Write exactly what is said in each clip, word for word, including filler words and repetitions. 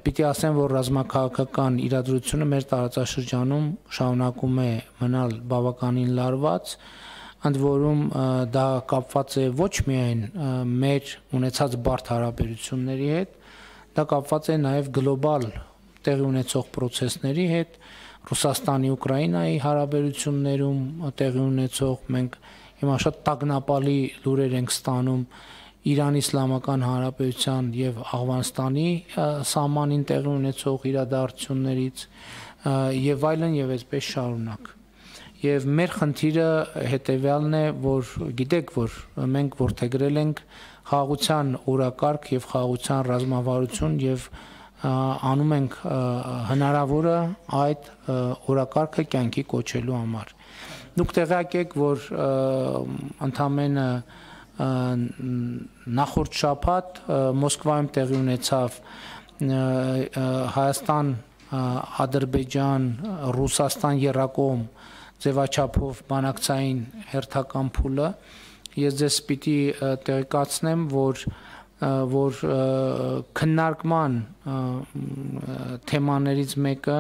պիտի ասեմ, որ ռազմաքաղաքական իրադրությունը մեր տարածաշրջանում շարունակում է մնալ բավականին լարված, ընդ որում դա կապված է ոչ միայն մեր ունեցած բարդ հարաբերությունների հետ, դա կապված է նաև գլոբալ տեղի ունեցող պրոցեսների հետ, Ռուսաստանի Ուկրաինայի հարաբերություններում տեղի ունեցող, մենք հիմա շատ տագնապալի լուրեր ենք ստանում Իրանի Իսլամական Հանրապետության եւ Աֆղանստանի սահմանին տեղի ունեցող իրադարձություններից եւ այլն եւ այսպես շարունակ։ Եվ մեր խնդիրը հետեւյալն է, որ գիտեք, որ մենք որդեգրել ենք խաղաղության օրակարգ եւ խաղաղության ռազմավարություն եւ անում ենք հնարավորը այդ օրակարգը կյանքի կոչելու համար։ Դուք տեղյակ եք, որ ընդամենը նախորդ շաբաթ Մոսկվայում տեղի ունեցավ Հայաստան, Ադրբեջան, Ռուսաստան եռակողմ ձևաչափով բանակցային հերթական փուլը։ Ես ձեզ պիտի տեղեկացնեմ, որ որ քննարկման թեմաներից մեկը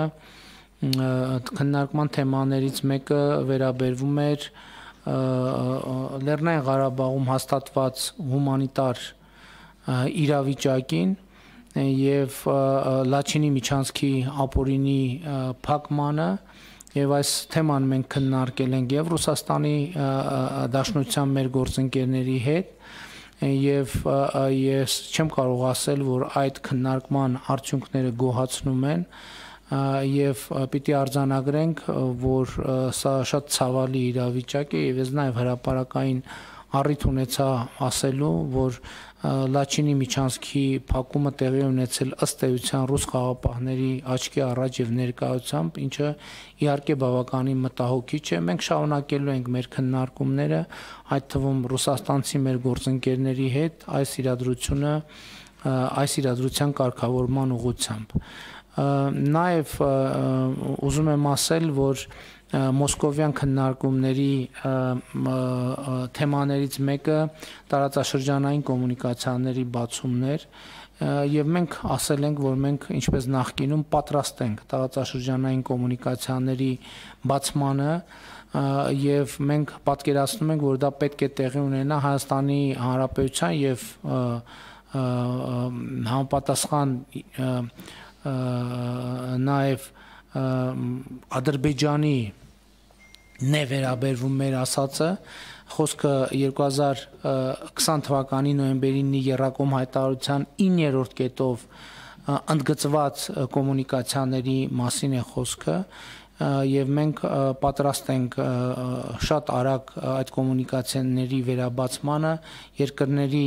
քննարկման թեմաներից մեկը վերաբերվում էր Լեռնային Ղարաբաղում հաստատված հումանիտար իրավիճակին եւ Լաչինի միջանցքի ապօրինի փակմանը եւ այս թեման մենք քննարկել ենք եւ Ռուսաստանի Դաշնության մեր գործընկերների հետ եւ ես չեմ կարող ասել, որ այդ քննարկման արդյունքները գոհացնում են եւ պիտի արձանագրենք, որ սա շատ ցավալի իրավիճակ է եւ ես նաեւ հրապարակային առիթ ունեցա ասելու, որ Լաչինի միջանցքի փակումը տեղի ունեցել ըստ էության ռուս խաղաղապահների աչքի առաջ եւ ներկայությամբ, ինչը իհարկե բավականին մտահոգիչ է։ Մենք շարունակելու ենք մեր քննարկումները, այդ թվում ռուսաստանցի մեր գործընկերների հետ այս իրադրությունը այս իրադրության կարգավորման ուղղությամբ։ Նաեւ ուզում եմ ասել, որ Մոսկովյան քննարկումների թեմաներից մեկը տարածաշրջանային կոմունիկացիաների բացումներ եւ մենք ասել ենք, որ մենք ինչպես նախկինում պատրաստ ենք տարածաշրջանային կոմունիկացիաների բացմանը եւ մենք պատկերացնում ենք, որ դա պետք է տեղի ունենա Հայաստանի Հանրապետության եւ համապատասխան նաեւ Ադրբեջանի նեվերաբերվում մեր ասածը, խոսքը երկու հազար քսան թվականի նոյեմբերի ինը եռակողմ հայտարարության իններորդ կետով ընդգծված կոմունիկացիաների մասին է խոսքը եւ մենք պատրաստ ենք շատ արագ այդ կոմունիկացիաների վերաբացմանը երկրների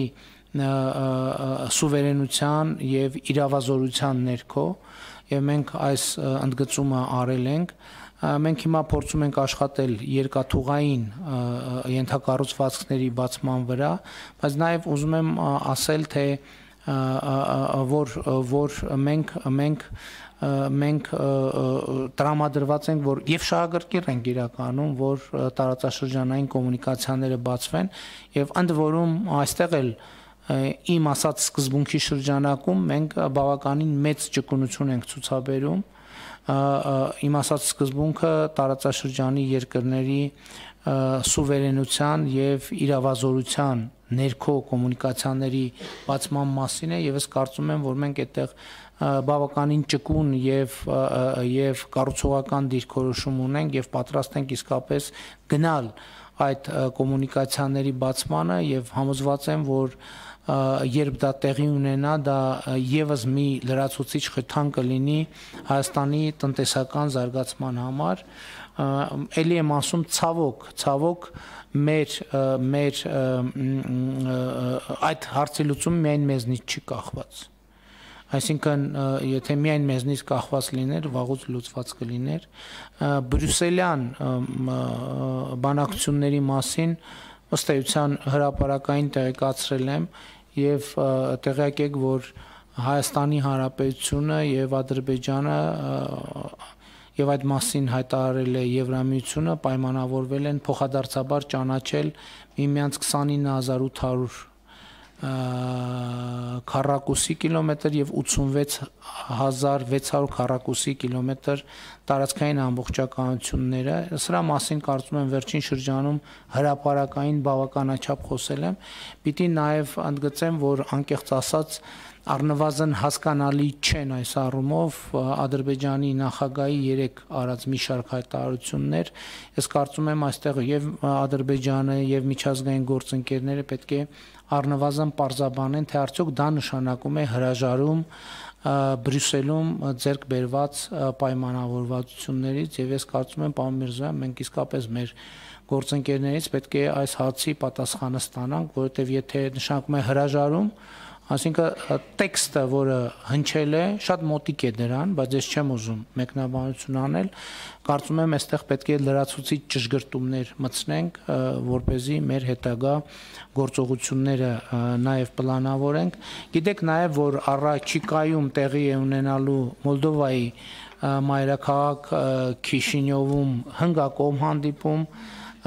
սուվերենության եւ իրավազորության ներքո եւ մենք այս ընդգծումը արել ենք։ Մենք հիմա փորձում ենք աշխատել երկաթուղային ենթակառուցվածքների բացման վրա, բայց նաեւ ուզում եմ ասել, թե որ որ մենք մենք մենք տրամադրված ենք, որ եւ շահագրգիռ ենք իրականում, որ տարածաշրջանային կոմունիկացիաները բացվեն եւ ընդ որում այստեղ էլ իմ ասած սկզբունքի շրջանակում մենք բավականին մեծ ճկունություն ենք ցուցաբերում իմ ասած սկզբունքը տարածաշրջանի երկրների սուվերենության եւ իրավազորության ներքո կոմունիկացիաների բացման մասին է եւ ես կարծում եմ, որ մենք այդտեղ բավականին ճկուն եւ եւ կառուցողական դիրքորոշում ունենք եւ պատրաստ ենք իսկապես գնալ այդ կոմունիկացիաների բացմանը եւ համոզված եմ, որ երբ դա տեղի ունենա, դա եւս մի լրացուցիչ խթան կլինի Հայաստանի տնտեսական զարգացման համար։ Էլի եմ ասում ցավոք, ցավոք մեր մեր այդ հարցի լուծումը միայն մեզնից չի կախված։ Այսինքն, եթե միայն մեզնից կախված լիներ, վաղուց լուծված կլիներ։ Բրյուսելյան բանակցությունների մասին ըստ էության հրապարակային տեղեկացրել եմ եւ տեղյակ եք, որ Հայաստանի Հանրապետությունը եւ Ադրբեջանը եւ այդ մասին հայտարարել է Եվրամիությունը, պայմանավորվել են փոխադարձաբար ճանաչել միմյանց քսանինը հազար ութ հարյուր քառակուսի կիլոմետր եւ ութսունվեց հազար վեց հարյուր քառակուսի կիլոմետր տարածքային ամբողջականությունները սրա մասին կարծում եմ վերջին շրջանում հրապարակային բավականաչափ խոսել եմ պիտի նաեւ ընդգծեմ որ անկեղծ ասած առնվազն հասկանալի չեն այս առումով Ադրբեջանի նախագահի երեք արած մի շարք հայտարարություններ ես կարծում եմ այստեղ եւ Ադրբեջանը եւ միջազգային գործընկերները պետք է առնվազն պարզաբանեն թե արդյոք դա նշանակում է հրաժարում Բրյուսելում ձեռք բերված պայմանավորվածություններից եւ ես կարծում եմ պարոն Միրզոյան մենք իսկապես մեր գործընկերներից պետք է այս հարցի պատասխանը ստանանք որովհետեւ եթե նշանակում է հրաժարում Այսինքն տեքստը, որը հնչել է, շատ մոտիկ է դրան, բայց ես չեմ ուզում մեկնաբանություն անել, կարծում եմ այստեղ պետք է լրացուցիչ ճշգրտումներ մտցնենք, որպեսզի մեր հետագա գործողությունները նաև պլանավորենք։ Գիտեք նաև, որ առաջիկայում տեղի է ունենալու Մոլդովայի մայրաքաղաք Քիշինյովում հնգակողմ հանդիպում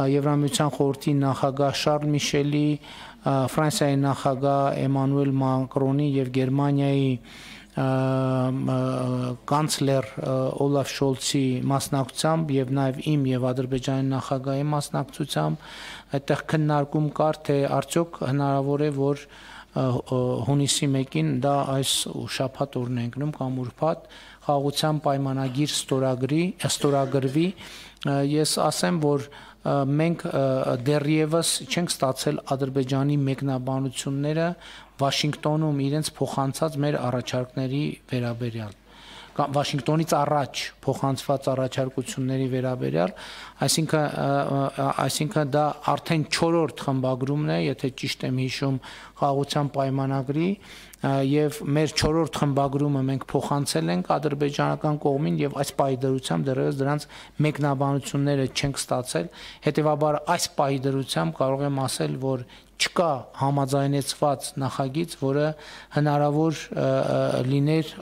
Եվրամիության խորհրդի նախագահ Շարլ Միշելի Ֆրանսիայի նախագահ Էմանուել Մակրոնի եւ Գերմանիայի կանցլեր Օլաֆ Շոլցի մասնակցությամբ եւ նաեւ իմ եւ Ադրբեջանի նախագահի մասնակցությամբ այդտեղ քննարկում կար թե արդյոք հնարավոր է որ հունիսի մեկին դա այս շաբաթ օրն է ընկնում կամ ուրբաթ խաղաղության պայմանագիր ստորագրի ստորագրվի ես ասեմ որ մենք դեռևս չենք ստացել Ադրբեջանի մեկնաբանությունները Վաշինգտոնում իրենց փոխանցած մեր առաջարկների վերաբերյալ կամ Վաշինգտոնից առաջ փոխանցված առաջարկությունների վերաբերյալ այսինքն այսինքն դա արդեն չորրորդ խմբագրումն է եթե ճիշտ եմ հիշում խաղաղության պայմանագրի եւ մեր չորրորդ խմբագրումը մենք փոխանցել ենք ադրբեջանական կողմին եւ այս պահի դրությամբ դեռևս դրանց մեկնաբանությունները չենք ստացել հետեւաբար այս պահի դրությամբ կարող եմ ասել որ չկա համաձայնեցված նախագիծ, որը հնարավոր լիներ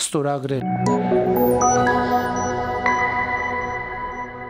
ստորագրել